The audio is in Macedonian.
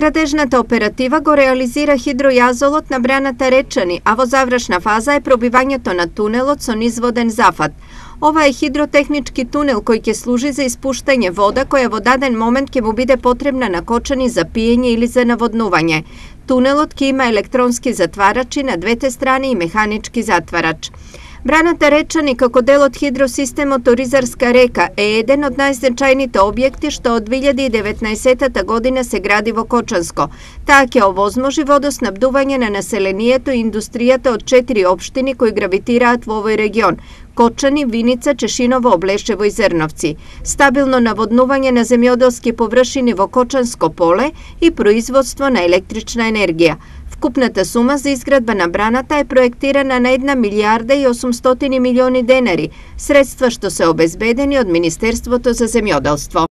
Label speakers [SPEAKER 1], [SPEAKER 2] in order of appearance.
[SPEAKER 1] Градежната оператива го реализира хидројазолот на браната Речани, а во завршна фаза е пробивањето на тунелот со низводен зафат. Ова е хидротехнички тунел кој ќе служи за испуштање вода која во даден момент ќе му биде потребна на Кочани за пиење или за наводнување. Тунелот ќе има електронски затварачи на двете страни и механички затварач. Браната Речани како дел од хидросистемот Оризарска река е еден од најзначајните објекти што од 2019 година се гради во Кочанско. Таа ќе овозможи водоснабдување на населението и индустријата од 4 општини кои гравитираат во овој регион: Кочани, Виница, Чешиново, Облешево и Зрновци, стабилно наводнување на земјоделски површини во Кочанско поле и производство на електрична енергија. Вкупната сума за изградба на браната е проектирана на 1 милијарда и 800 милиони денари, средства што се обезбедени од Министерството за земјоделство.